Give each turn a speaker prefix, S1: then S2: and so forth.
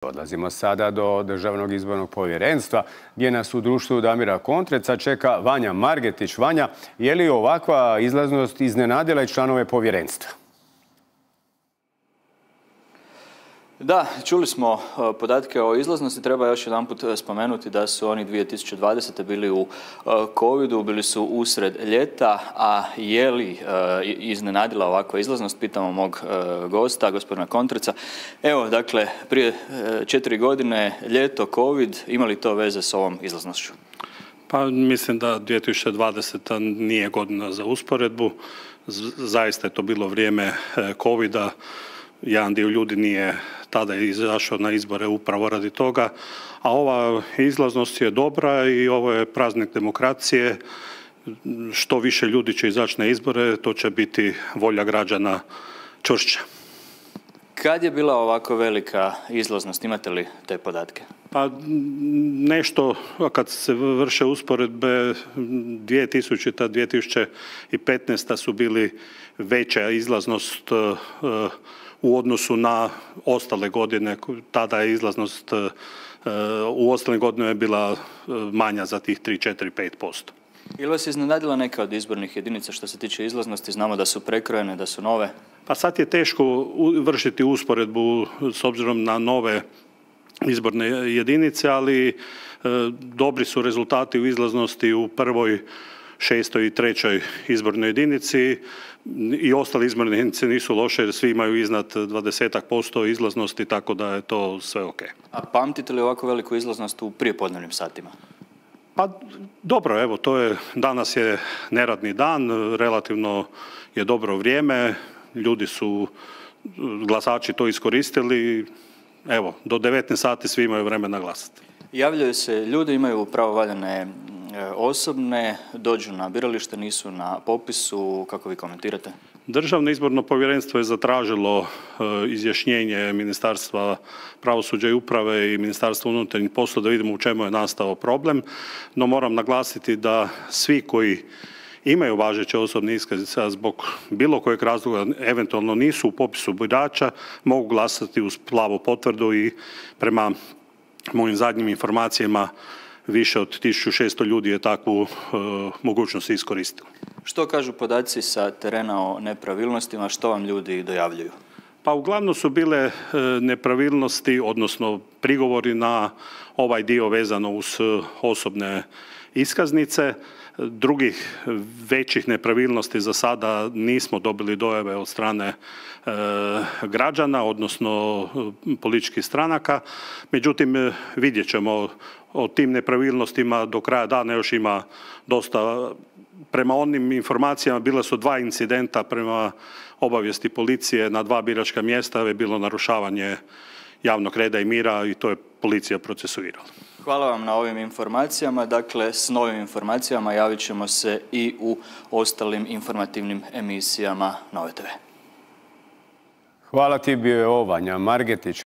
S1: Odlazimo sada do Državnog izbornog povjerenstva, gdje nas u društvu Damira Kontreca čeka Vanja Margetić. Vanja, je li ovakva izlaznost iznenadila i članove povjerenstva?
S2: Da, čuli smo podatke o izlaznosti. Treba još jedanput spomenuti da su oni 2020. bili u covidu, bili su usred ljeta, a je li iznenadila ovakva izlaznost? Pitamo mog gosta, gospodina Kontreca. Evo, dakle, prije 4 godine, ljeto, covid, ima li to veze s ovom izlaznošću?
S3: Pa mislim da 2020. nije godina za usporedbu. Zaista je to bilo vrijeme covida. Jedan dio ljudi nije tada izašao na izbore upravo radi toga, a ova izlaznost je dobra i ovo je praznik demokracije. Što više ljudi će izaći na izbore, to će biti volja građana čvršća.
S2: Kad je bila ovako velika izlaznost? Imate li te podatke?
S3: Pa nešto, kad se vrše usporedbe, 2000. 2015. su bili veća izlaznost u odnosu na ostale godine. Tada je izlaznost u ostalim godinama je bila manja za tih 3, 4, 5%.
S2: Ili vas je iznenadila neka od izbornih jedinica što se tiče izlaznosti? Znamo da su prekrojene, da su nove.
S3: Pa sad je teško vršiti usporedbu s obzirom na nove izborne jedinice, ali dobri su rezultati u izlaznosti u prvoj, 6. i 3. izbornoj jedinici i ostale izborne jedinice nisu loše jer svi imaju iznad 20% izlaznosti, tako da je to sve ok.
S2: A pamtite li ovako veliku izlaznost u prijepodnevnim satima?
S3: Pa dobro, evo, danas je neradni dan, relativno je dobro vrijeme, ljudi su, glasači to iskoristili, evo, do 19 sati svi imaju vremena glasati.
S2: Javljaju se ljudi, imaju pravovaljane osobne, dođu na biralište, nisu na popisu. Kako vi komentirate?
S3: Državno izborno povjerenstvo je zatražilo izjašnjenje Ministarstva pravosuđa i uprave i Ministarstva unutarnjih poslova da vidimo u čemu je nastao problem, no moram naglasiti da svi koji imaju važeće osobne iskaznice, a zbog bilo kojeg razloga eventualno nisu u popisu birača, mogu glasati uz plavu potvrdu i prema mojim zadnjim informacijama više od 1600 ljudi je takvu mogućnost iskoristilo.
S2: Što kažu podaci sa terena o nepravilnostima, što vam ljudi dojavljuju?
S3: Pa uglavnom su bile nepravilnosti, odnosno prigovori na ovaj dio vezano uz osobne iskaznice. Drugih većih nepravilnosti za sada nismo dobili dojave od strane građana, odnosno političkih stranaka. Međutim, vidjet ćemo o tim nepravilnostima do kraja dana, još ima dosta. Prema onim informacijama bila su 2 incidenta prema obavijesti policije na 2 biračka mjesta, je bilo narušavanje javnog reda i mira i to je policija procesuirala.
S2: Hvala vam na ovim informacijama. Dakle, s novim informacijama javit ćemo se i u ostalim informativnim emisijama Nove TV.
S1: Hvala ti, bio je Vanja Margetić.